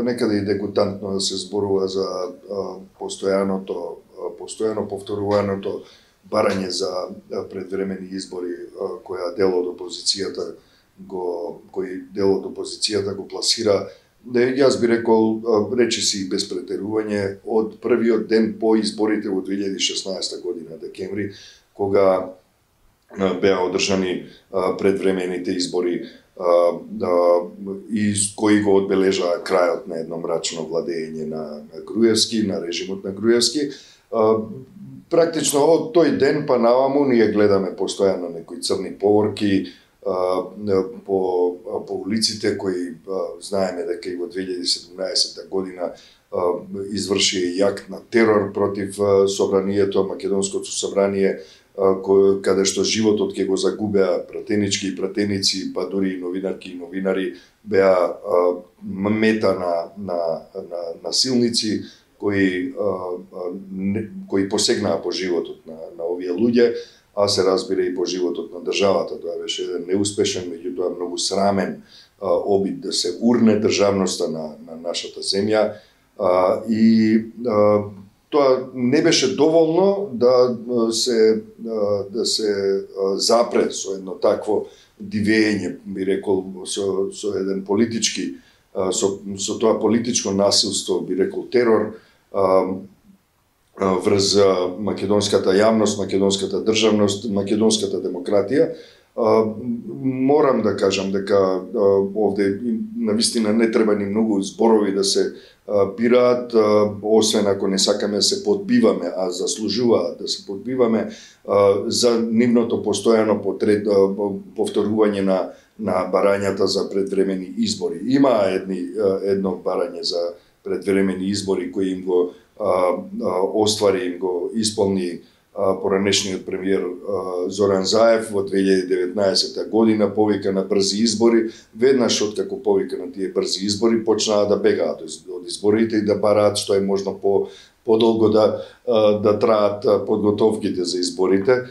некаде и дегутантно да се зборува за постојано повторуваното барање за предвремени избори кои дел од опозицијата го пласира. Јас би рекол, речиси без претерување, од првиот ден по изборите во 2016 година, декември, кога беа одржани предвремените избори и кои го одбележаа крајот на едно мрачно владење на Груевски, на режимот на Груевски. Практично од тој ден па наваму ние гледаме постојано некои црни поворки по улиците кои знаеме дека и во 2017 година изврши јакт на терор против собранието, Македонското собрание, каде што животот ќе го загубеа пратенички и пратеници, па дури и новинарки и новинари беа мета на насилници кои посегнаа по животот на овие луѓе, а се разбира и по животот на државата. Тоа беше еден неуспешен, меѓутоа многу срамен обид да се урне државноста на нашата земја и тоа не беше доволно да се запре со едно такво дивење, би рекол, со еден политички, со тоа политичко насилство, би рекол терор, врз македонската јавност, македонската државност, македонската демократија. Морам да кажам дека овде навистина не треба ни многу зборови да се бираат, освен ако не сакаме да се подбиваме, а заслужуваат да се подбиваме за нивното постојано повторување на барањата за предвремени избори. Има едно барање за предвремени избори кои им го оствари, им го исполни поранешниот премиер Зоран Заев во 2019 година, повика на брзи избори. Веднаш откако повика на тие брзи избори, почнаа да бегаат од изборите и да бараат што е можно подолго да траат подготовките за изборите.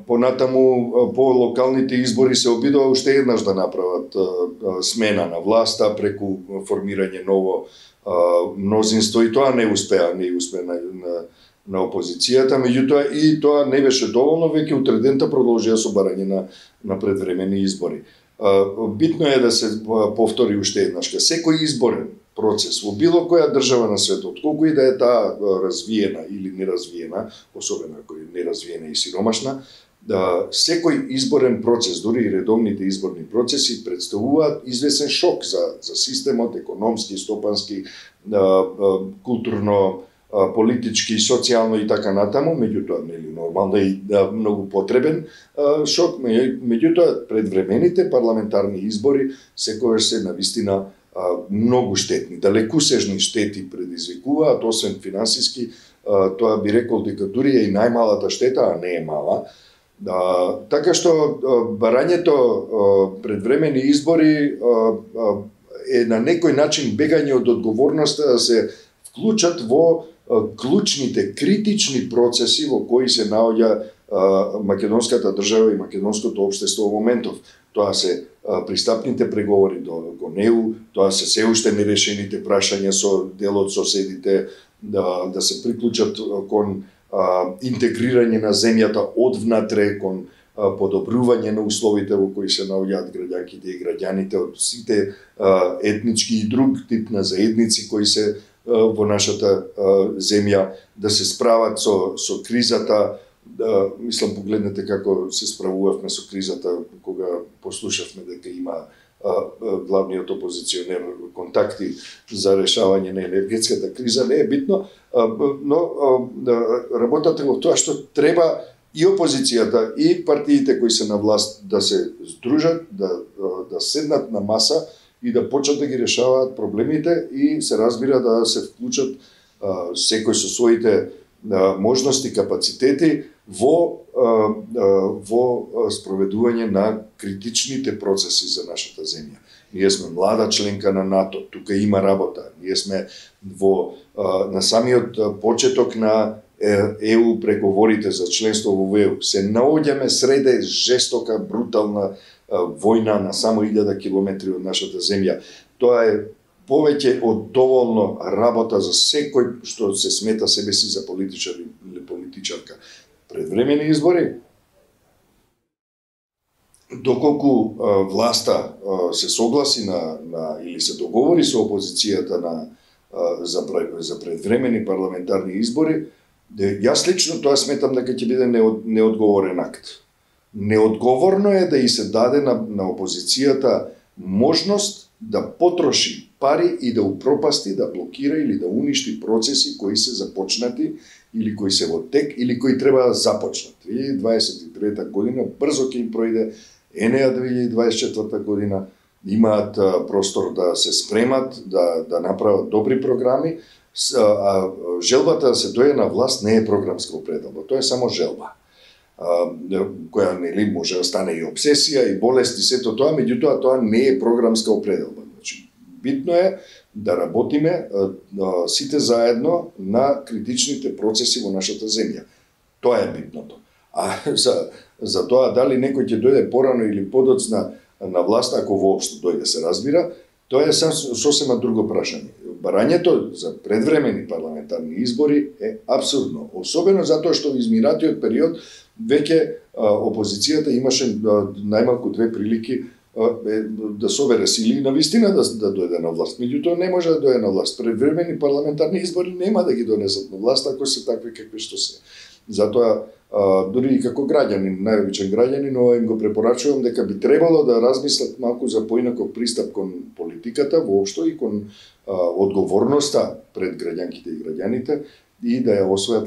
Понатаму, по локалните избори се обидува уште еднаш да направат смена на власта преку формирање ново мнозинство и тоа не успеа на опозицијата, меѓутоа и тоа не беше доволно, веќе утредента продолжија со барање на предвремени избори. Битно е да се повтори уште еднаш. Секој изборен процес во било која држава на светот, колку и да е таа развиена или неразвиена, особено ако е неразвиена и сиромашна, секој изборен процес, дури и редовните изборни процеси, представуваат известен шок за системот, економски, стопански, културно, политички, социјално и така натаму, меѓутоа нели нормално и многу потребен шок, меѓутоа предвремените парламентарни избори секогаш се навистина многу штетни, далекусежни штети предизвикуваат, освен финансиски, тоа би рекол дека дури е и најмалата штета, а не е мала. Така што барањето предвремени избори е на некој начин бегање од одговорноста да се вклучат во клучните, критични процеси во кои се наоѓа македонската држава и македонското општество во моментов. Тоа се пристапните преговори до НЕУ, тоа се се уште нерешените прашања со дел од соседите, да се приклучат кон интегрирање на земјата одвнатре, кон подобрување на условите во кои се наоѓаат граѓанките и граѓаните од сите етнички и друг тип на заедници кои се во нашата земја, да се справат со кризата. Мислам, погледнете како се справувавме со кризата кога послушавме дека има главниот опозиционер контакти за решавање на енергетската криза. Не е битно, но работата во тоа што треба и опозицијата и партиите кои се на власт да се здружат, да седнат на маса и да почнат да ги решаваат проблемите и се разбира да се вклучат секој со своите можности, капацитети во спроведување на критичните процеси за нашата земја. Ние сме млада членка на НАТО, тука има работа. Ние сме на самиот почеток на ЕУ преговорите за членство во ЕУ. Се наоѓаме среде жестока, брутална војна на само 1000 километри од нашата земја. Тоа е повеќе од доволно работа за секој што се смета себе си за политичар или политичарка. Предвремени избори, доколку власта се согласи или се договори со опозицијата за предвремени парламентарни избори, јас лично тоа сметам дека ќе биде неодговорен акт. Неодговорно е да и се даде на опозицијата можност да потроши пари и да упропасти, да блокира или да уништи процеси кои се започнати или кои се во тек или кои треба да започнат. 2023 година брзо ќе им пројде, енеја 2024 година, имаат простор да се спремат, да направат добри програми, а желбата да се дојде на власт не е програмска определба, тоа е само желба, која нели може да стане и обсесија и болест и сето тоа, меѓутоа тоа не е програмска определба. Значи, битно е да работиме сите заедно на критичните процеси во нашата земја. Тоа е битното. А за тоа дали некој ќе дојде порано или подоцна на власт, ако воопшто дојде се разбира, тоа е сосема друго прашање. Барањето за предвремени парламентарни избори е абсурдно, особено затоа што во изминатиот период веќе опозицијата имаше најмалку две прилики да собере сили и навистина да дојде на власт. Меѓутоа не може да дојде на власт. Предвремени парламентарни избори нема да ги донесат на власт ако се такви какви што се. Затоа дури и како граѓанин, најобичен граѓанин, им го препорачувам дека би требало да размислат малку за поинаков пристап кон политиката воопшто и кон одговорноста пред граѓанките и граѓаните и да ја освојат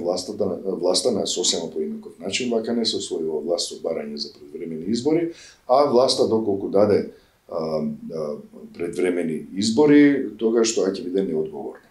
власта на сосема поинаков начин, вака не се освојува власт со барање за предвремени избори, а власта доколку даде предвремени избори, тогаш тоа ќе биде неодговорно.